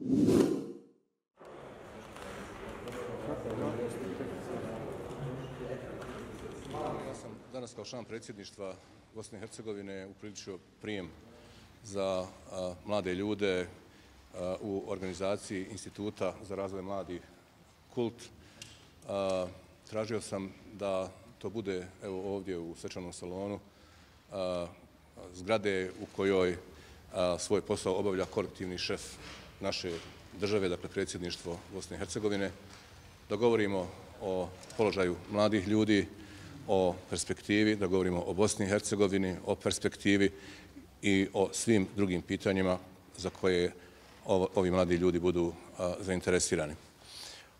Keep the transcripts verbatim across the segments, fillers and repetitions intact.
Ja sam danas kao član predsjedništva Bosne i Hercegovine upriličio prijem za a, mlade ljude a, u organizaciji Instituta za razvoj mladih Kult. A, tražio sam da to bude evo ovdje u svečanom salonu a, zgrade u kojoj a, svoj posao obavlja kolektivni šef naše države, dakle predsjedništvo Bosne i Hercegovine, da govorimo o položaju mladih ljudi, o perspektivi, da govorimo o Bosni i Hercegovini, o perspektivi i o svim drugim pitanjima za koje ovi mladi ljudi budu a, zainteresirani.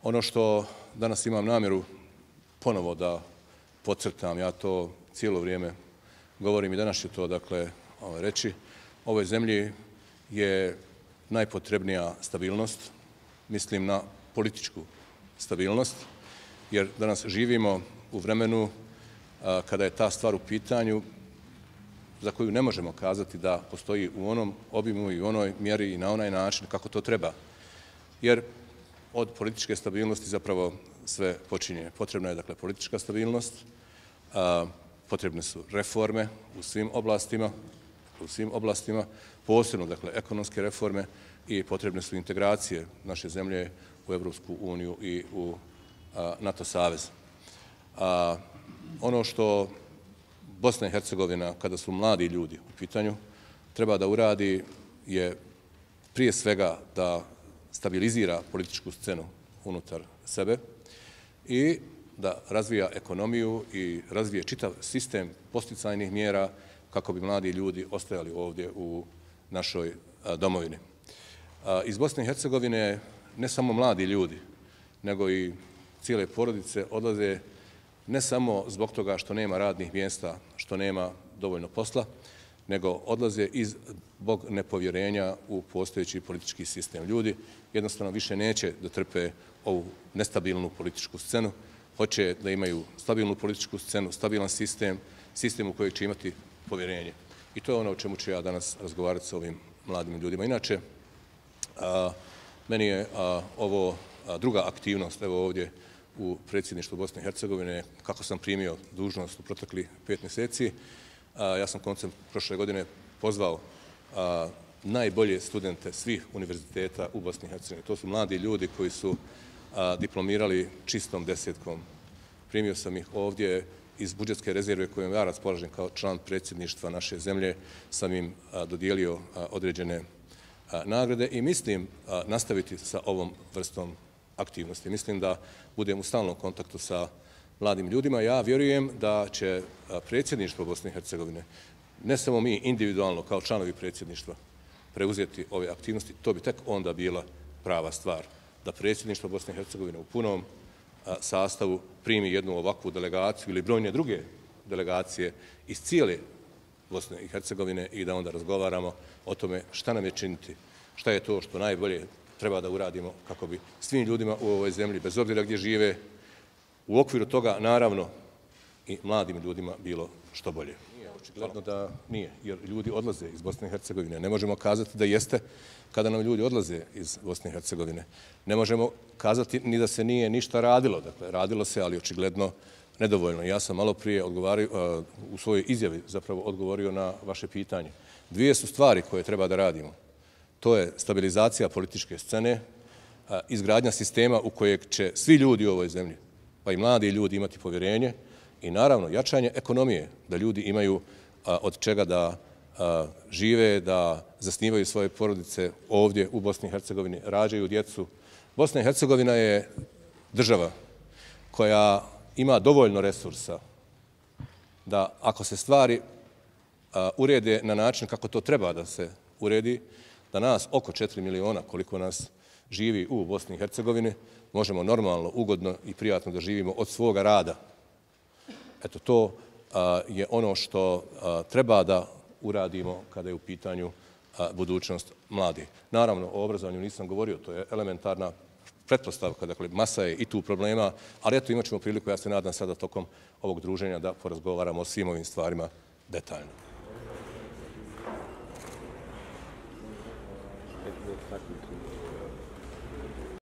Ono što danas imam namjeru ponovo da podcrtam, ja to cijelo vrijeme govorim i danas ću to dakle reći, ovoj zemlji je najpotrebnija stabilnost, mislim na političku stabilnost, jer danas živimo u vremenu a, kada je ta stvar u pitanju za koju ne možemo kazati da postoji u onom obimu i u onoj mjeri i na onaj način kako to treba. Jer od političke stabilnosti zapravo sve počinje. Potrebna je dakle politička stabilnost, a, potrebne su reforme u svim oblastima, u svim oblastima, posebno dakle ekonomske reforme i potrebne su integracije naše zemlje u Evropsku uniju i u a, NATO savez. A, ono što Bosna i Hercegovina, kada su mladi ljudi u pitanju, treba da uradi je prije svega da stabilizira političku scenu unutar sebe i da razvija ekonomiju i razvije čitav sistem posticajnih mjera kako bi mladi ljudi ostajali ovdje u našoj domovini. Iz Bosne i Hercegovine ne samo mladi ljudi, nego i cijele porodice odlaze ne samo zbog toga što nema radnih mjesta, što nema dovoljno posla, nego odlaze i zbog nepovjerenja u postojeći politički sistem. Ljudi jednostavno više neće da trpe ovu nestabilnu političku scenu, hoće da imaju stabilnu političku scenu, stabilan sistem, sistem u koji će imati povjerenje. I to je ono o čemu ću ja danas razgovarati sa ovim mladim ljudima. Inače, a, meni je a, ovo a, druga aktivnost, evo ovdje u predsjedništvu Bosne i Hercegovine, kako sam primio dužnost u protekli pet mjeseci. A, ja sam koncem prošle godine pozvao a, najbolje studente svih univerziteta u Bosni i Hercegovini. To su mladi ljudi koji su a, diplomirali čistom desetkom. Primio sam ih ovdje iz budžetske rezerve kojom ja raspolažem kao član predsjedništva naše zemlje, sam im a, dodijelio a, određene a, nagrade i mislim a, nastaviti sa ovom vrstom aktivnosti. Mislim da budem u stalnom kontaktu sa mladim ljudima. Ja vjerujem da će predsjedništvo Bosne i Hercegovine, ne samo mi individualno kao članovi predsjedništva, preuzeti ove aktivnosti, to bi tek onda bila prava stvar. Da predsjedništvo Bosne i Hercegovine u punom sastavu primi jednu ovakvu delegaciju ili brojne druge delegacije iz cijele Bosne i Hercegovine i da onda razgovaramo o tome šta nam je činiti, šta je to što najbolje treba da uradimo kako bi svim ljudima u ovoj zemlji, bez obzira gdje žive, u okviru toga, naravno, i mladim ljudima bilo što bolje. Nije, očigledno da nije, jer ljudi odlaze iz Bosne i Hercegovine. Ne možemo kazati da jeste kada nam ljudi odlaze iz Bosne i Hercegovine. Ne možemo kazati ni da se nije ništa radilo. Dakle, radilo se, ali očigledno nedovoljno. Ja sam malo prije odgovario, u svojoj izjavi zapravo odgovorio na vaše pitanje. Dvije su stvari koje treba da radimo. To je stabilizacija političke scene, izgradnja sistema u kojeg će svi ljudi u ovoj zemlji, pa i mladi ljudi imati povjerenje i naravno jačanje ekonomije, da ljudi imaju od čega da žive, da zasnivaju svoje porodice ovdje u Bosni i Hercegovini, rađaju djecu. Bosna i Hercegovina je država koja ima dovoljno resursa da ako se stvari urede na način kako to treba da se uredi, da nas oko četiri miliona, koliko nas živi u Bosni i Hercegovini, možemo normalno, ugodno i prijatno da živimo od svoga rada. Eto, to a, je ono što a, treba da uradimo kada je u pitanju a, budućnost mladih. Naravno, o obrazovanju nisam govorio, to je elementarna pretpostavka, dakle, masa je i tu problema, ali eto, imat ćemo priliku, ja se nadam sada tokom ovog druženja da porazgovaramo o svim ovim stvarima detaljno.